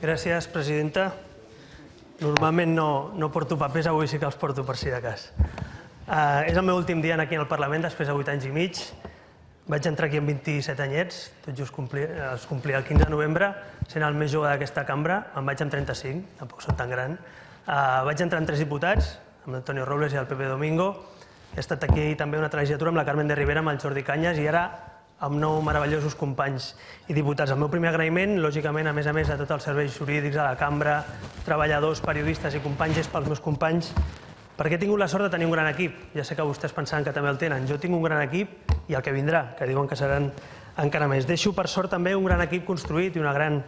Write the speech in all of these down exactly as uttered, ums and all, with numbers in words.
Gràcies, presidenta. Normalment no, no porto papers, avui sí que els porto per si de cas. Uh, és el meu últim dia aquí al Parlament, després de vuit anys i mig. Vaig entrar aquí amb vint-i-set anyets, tot just complir, els complia el quinze de novembre, sent el més jove d'aquesta cambra. Em vaig amb trenta-cinc, tampoc soc tan gran. Uh, vaig entrar amb tres diputats, amb Antonio Robles i el Pepe Domingo. He estat aquí també una legislatura amb la Carmen de Rivera, amb el Jordi Cañas, i ara amb nou meravellosos companys i diputats. El meu primer agraïment, lògicament, a més a més de tots els serveis jurídics de la cambra, treballadors, periodistes i companys, és pels meus companys, perquè he tingut la sort de tenir un gran equip. Ja sé que vostès pensaven que també el tenen. Jo tinc un gran equip i el que vindrà, que diuen que seran encara més. Deixo, per sort, també un gran equip construït i una gran,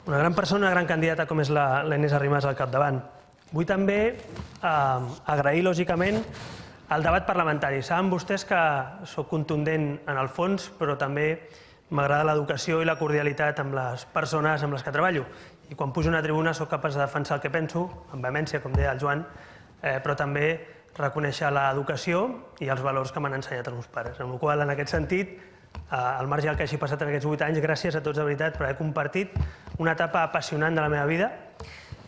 una gran persona, una gran candidata com és la, la Inés Arrimadas al capdavant. Vull també eh, agrair, lògicament, el debat parlamentari. Saben vostès que soc contundent en el fons, però també m'agrada l'educació i la cordialitat amb les persones amb les que treballo. I quan pujo a una tribuna soc capaç de defensar el que penso, amb vehemència, com deia el Joan, eh, però també reconèixer l'educació i els valors que m'han ensenyat els meus pares. En el qual, en aquest sentit, eh, al marge del que hagi passat en aquests vuit anys, gràcies a tots de veritat per haver compartit una etapa apassionant de la meva vida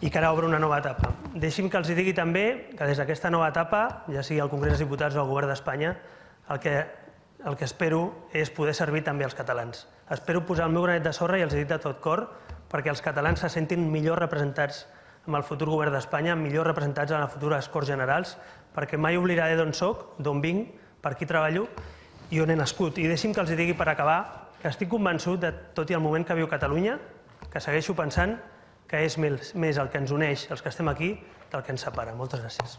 i que ara obre una nova etapa. Deixi'm que els digui també que des d'aquesta nova etapa, ja sigui al Congrés dels Diputats o al Govern d'Espanya, el que, el que espero és poder servir també als catalans. Espero posar el meu granet de sorra i els dic de tot cor perquè els catalans se sentin millor representats amb el futur Govern d'Espanya, millor representats en les futures Corts Generals, perquè mai oblidaré d'on soc, d'on vinc, per qui treballo i on he nascut. I deixi'm que els digui per acabar que estic convençut de tot i el moment que viu Catalunya, que segueixo pensant que és més el que ens uneix, els que estem aquí, del que ens separa. Moltes gràcies.